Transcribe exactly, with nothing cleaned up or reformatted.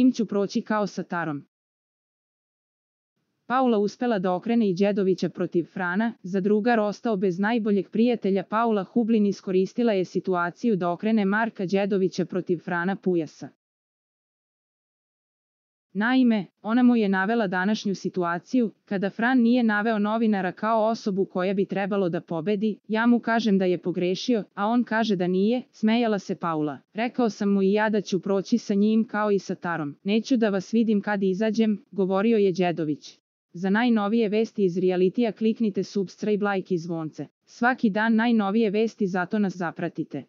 njim ću proći kao sa Tarom. Paula uspela da okrene i Đedovića protiv Frana, za drugar ostao bez najboljeg prijatelja. Paula Hublin iskoristila je situaciju da okrene Marka Đedovića protiv Frana Pujasa. Naime, ona mu je navela današnju situaciju, kada Fran nije naveo novinara kao osobu koja bi trebalo da pobedi, ja mu kažem da je pogrešio, a on kaže da nije, smejala se Paula. Rekao sam mu i ja da ću proći sa njim kao i sa Tarom. Neću da vas vidim kad izađem, govorio je Đedović. Za najnovije vesti iz realitija kliknite subscribe, like i zvonce. Svaki dan najnovije vesti, zato nas zapratite.